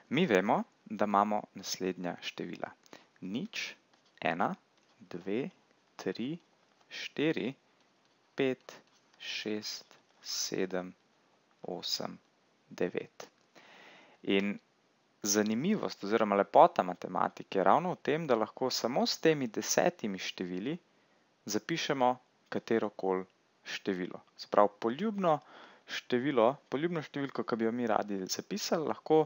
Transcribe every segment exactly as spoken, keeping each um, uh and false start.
Mi vemo, da imamo naslednja števila. Nič, ena, dve, tri, štiri, pet, šest, sedem, osem, devet. In zanimivost oziroma lepota matematike je ravno v tem, da lahko samo s temi desetimi števili zapišemo katerokoli število. Se pravi, poljubno število, poljubno številko, ki bi jo mi radi zapisali, lahko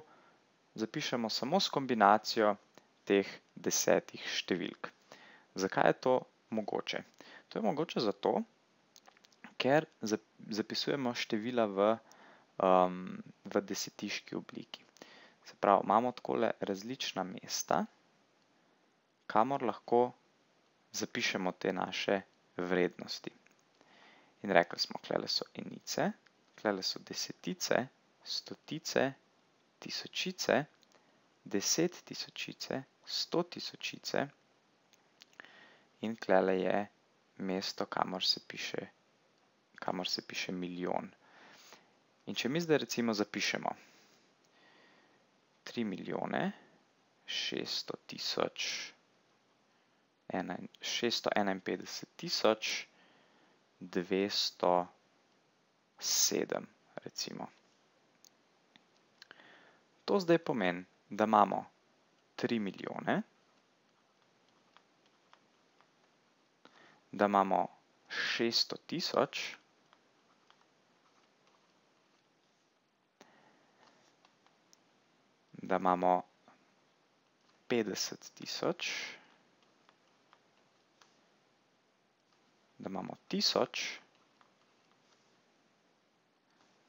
zapišemo samo s kombinacijo teh desetih številk. Zakaj je to mogoče? To je mogoče zato, ker zapisujemo števila v, um, v desetiški obliki. Se pravi, imamo takole različna mesta, kamor lahko zapišemo te naše vrednosti. In rekli smo, tlele so enice, tlele so desetice, stotice, tisočice, deset tisočice, sto tisočice in tlele je mesto, kamor se piše, kamor se piše milijon. In če mi zdaj recimo zapišemo tri milijone šeststo tisoč šeststo enainpetdeset tisoč dvesto sedem, recimo. To zdaj pomeni, da imamo tri milijone, da imamo šeststo tisoč, da imamo petdeset tisoč, da imamo tisoč,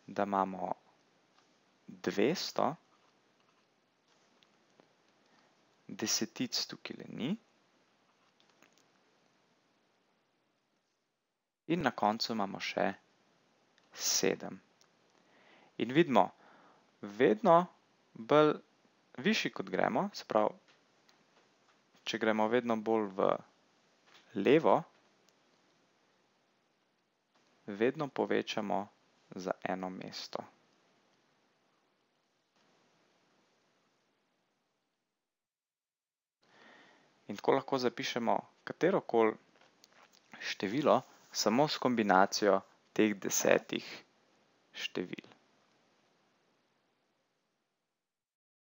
da imamo dvesto, desetic tukaj ni in na koncu imamo še sedem. In vidimo, vedno bolj višji kot gremo, se pravi, če gremo vedno bolj v levo, vedno povečamo za eno mesto. In tako lahko zapišemo katerokoli število samo s kombinacijo teh desetih števil.